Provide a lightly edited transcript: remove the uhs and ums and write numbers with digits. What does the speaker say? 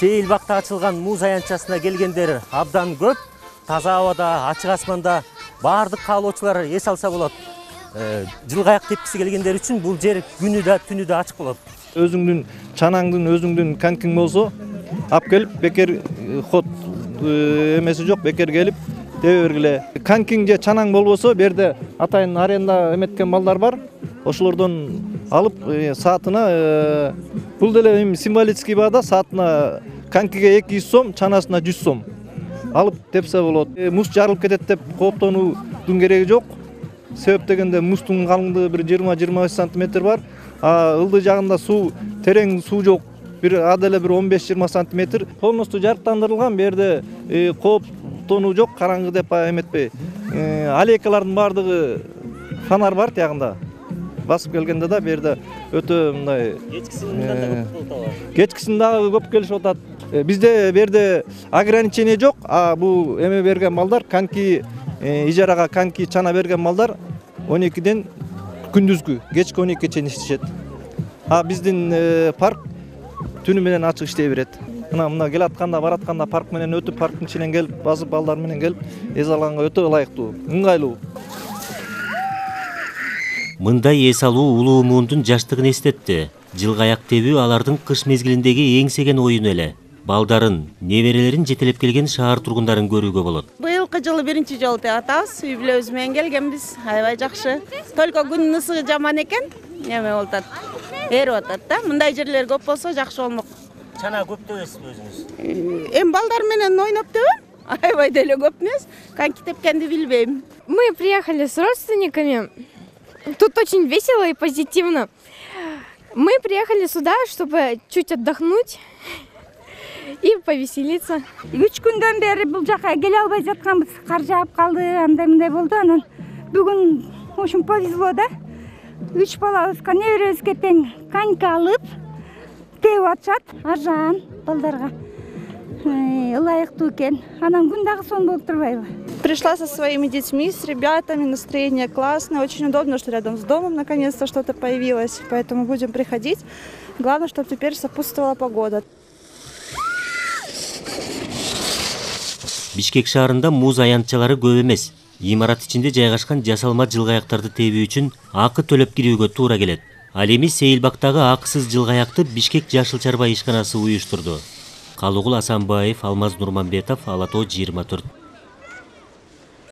Сейилбакта ачылган муз аянтчасына келгендер абдан көп. Таза абада, ачык асманда баардык каалоочулар эс алса болот. Жылгаяк тепкиси келгендер үчүн бул жер күнү да түнү да ачык болот. Өзүңдүн чанаңдын, өзүңдүн конькиң болсо, алып келип бекер ход эмеси жок, бекер келип тебе бергиле. Конькиң же чанаң болбосо, бу жерде атайын аренда эметкен балдар бар. Ошолордон алып саатына бул деле символический баада, саатына конькиге 200 сом, чанасына 100 сом алып тепсе болот. Муз жарылып кетет деп кооптонуудун кереги жок. Себеп дегенде муздун калыңдыгы бир 20-25 сантиметр бар. Ылдый жагында суу, терең суу жок. Бир аделе бир 15-20 сантиметр. Полностью жарыктандырылган, бу жерде кооптонуу жок, караңгы деп эметпей. Аллейкалардын баардыгы фонарь бар тиягында. Басып келгенде да бу жерде өтө мындай кечкисин дагы көп келишип атат. Бизде бу жерде ограничение жок. Бул эме берген балдар, коньки ижарага коньки чана берген балдар 12ден күндүзгү кечки 12ге чейин иштешет. Биздин парк түнү менен ачык иштей берет. Мына келатканда, баратканда парк менен өтүп, парктын ичинен келип, басып балдар менен келип, эс алганга өтө ылайыктуу, ыңгайлуу. Мындай эс алуу улуу муундун жаштыгын эстетти. Жылгаяк тебүү алардын кыш мезгилиндеги эңсеген оюну эле. Балдарын, неберелерин жетелеп келген шаар тургундарын көрүүгө болот. Быйылкы жылы биринчи жолу деп атабыз. Үй бүлөбүз менен келгенбиз. Аябай жакшы. Только күндүн ысыгы жаман экен. Эме болуп атат. Эрип атат да. Мындай жерлер көп болсо жакшы болмок. Чана көп тебесизби өзүңүз? Эми балдар менен ойноп тебем. Аябай деле көп эмес. Коньки тепкенди билбейм. Мы приехали с родственниками. Тут очень весело и позитивно. Мы приехали сюда, чтобы чуть отдохнуть и повеселиться. 3 күндөн бери бул жака келе албай жатканбыз. Кар жаап калды, андай-мындай болду. Анан бүгүн ошон повезло да. 3 балабызга неберебизге тең коньки алып тебип атышат. Аржан балдарга ылайыктуу экен. Анан күн дагы сонун болуп турбайбы? Пришла со своими детьми, с ребятами, настроение классное. Очень удобно, что рядом с домом наконец-то что-то появилось. Поэтому будем приходить. Главное, чтобы теперь сопутствовала погода. Бишкек шаарында муз аянтчалары көп эмес. Имарат ичинде жайгашкан жасалма жылгаяктарды тебүү үчүн акы төлөп кирүүгө туура келет. Ал эми Сейилбактагы акысыз жылгаякты Бишкек Жашыл Чарба ишканасы уюштурду. Калыгул Асанбаев, Алмаз Нурманбетов, Ала Тоо 24.